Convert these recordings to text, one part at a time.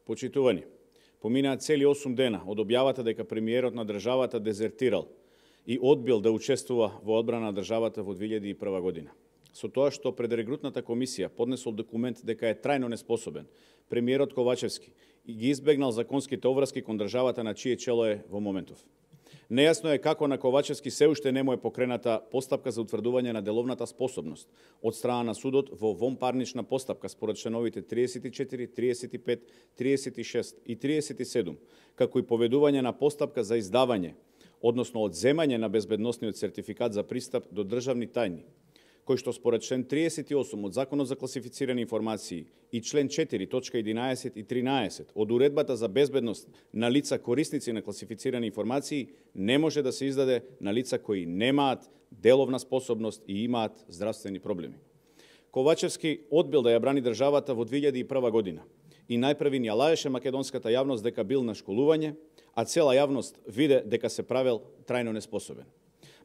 Почитувани, поминаа цели 8 дена од објавата дека премиерот на државата дезертирал и одбил да учествува во одбрана на државата во 2001 година. Со тоа што пред регрутната комисија поднесол документ дека е трајно неспособен, премиерот Ковачевски ги избегнал законските обврски кон државата на чие чело е во моментов. Нејасно е како на Ковачевски се уште не му е покрената постапка за утврдување на деловната способност од страна на судот во вонпарнична постапка според членовите 34, 35, 36 и 37, како и поведување на постапка за издавање, односно одземање на безбедносниот сертификат за пристап до државни тајни, кој што според член 38 од Законот за класифицирани информации и член 4 точка 11 и 13 од Уредбата за безбедност на лица корисници на класифицирани информации не може да се издаде на лица кои немаат деловна способност и имаат здравствени проблеми. Ковачевски одбил да ја брани државата во 2001 година и најпрви ја лаеше македонската јавност дека бил на школување, а цела јавност виде дека се правел трајно неспособен.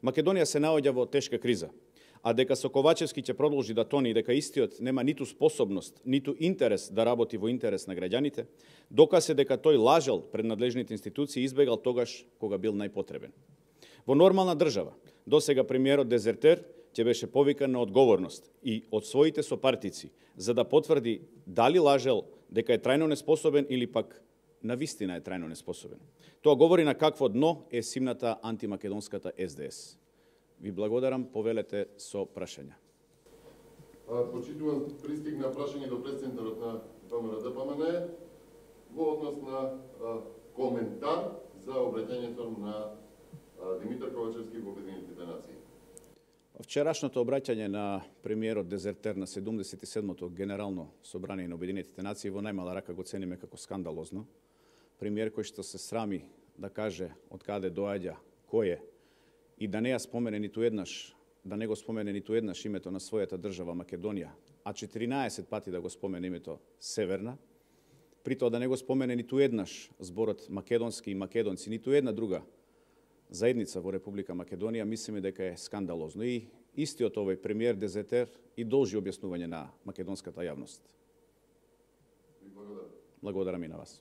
Македонија се наоѓа во тешка криза, а дека со Ковачевски ќе продолжи да тони и дека истиот нема ниту способност, ниту интерес да работи во интерес на граѓаните, докаже дека тој лажел пред надлежните институции и избегал тогаш кога бил најпотребен. Во нормална држава, досега премиерот дезертер ќе беше повикан на одговорност и од своите сопартици за да потврди дали лажел дека е трајно неспособен или пак навистина е трајно неспособен. Тоа говори на какво дно е симната антимакедонската СДС. Ви благодарам, повелете со прашања. Почитувам, пристигна прашање до председателот на ВМРО-ДПМН во однос на коментар за обраќањето на Димитар Ковачевски во Обединетите нации. Вчерашното обраќање на премиерот дезертер на 77-то Генерално собрание на Обединетите нации во најмала рака го цениме како скандалозно. Премиер кој што се срами да каже од каде доаѓа, кој е, и да не ја спомене ниту еднаш, да не го спомене ниту еднаш името на својата држава Македонија, а 14 пати да го спомене името Северна, при тоа да не го спомене ниту еднаш зборот македонски и македонци, ниту една друга заедница во Република Македонија, мислиме дека е скандалозно. И истиот овој премиер дезертер и должи објаснување на македонската јавност. Благодарам. Благодарам и на вас.